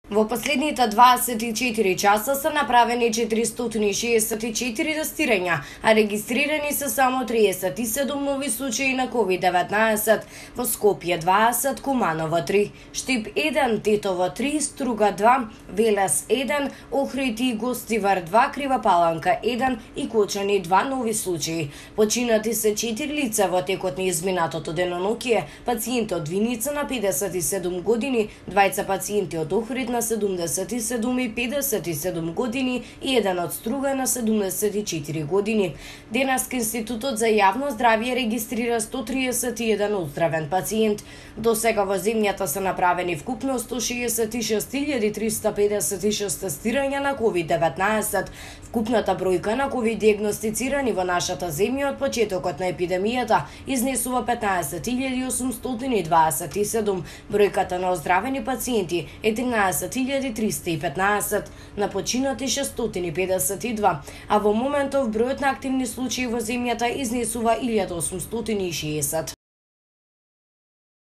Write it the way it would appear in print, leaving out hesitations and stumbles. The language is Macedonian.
Во последните 24 часа се направени 464 тестирања, а регистрирани се само 37 нови случаи на COVID-19 во Скопје 20, Куманово 3, Штип 1, Тетово 3, Струга 2, Велес 1, Охрид и Гостивар 2, Крива Паланка 1 и Кочани 2 нови случаи. Починати се 4 лица во текот на изминатото деноноќие, пациент од Виница на 57 години, двајца пациенти од Охрид на 77 и 57 години и еден од Струга на 74 години. Денеска Институтот за јавно здравје регистрира 131 оздравен пациент. До сега во земјата се направени вкупно 166.356 тестирања на COVID-19. Вкупната бројка на COVID диагностицирани во нашата земја од почетокот на епидемијата изнесува 15.827. Бројката на оздравени пациенти е 13.315, на починати 652, а во моментов бројот на активни случаи во земјата изнесува 1860.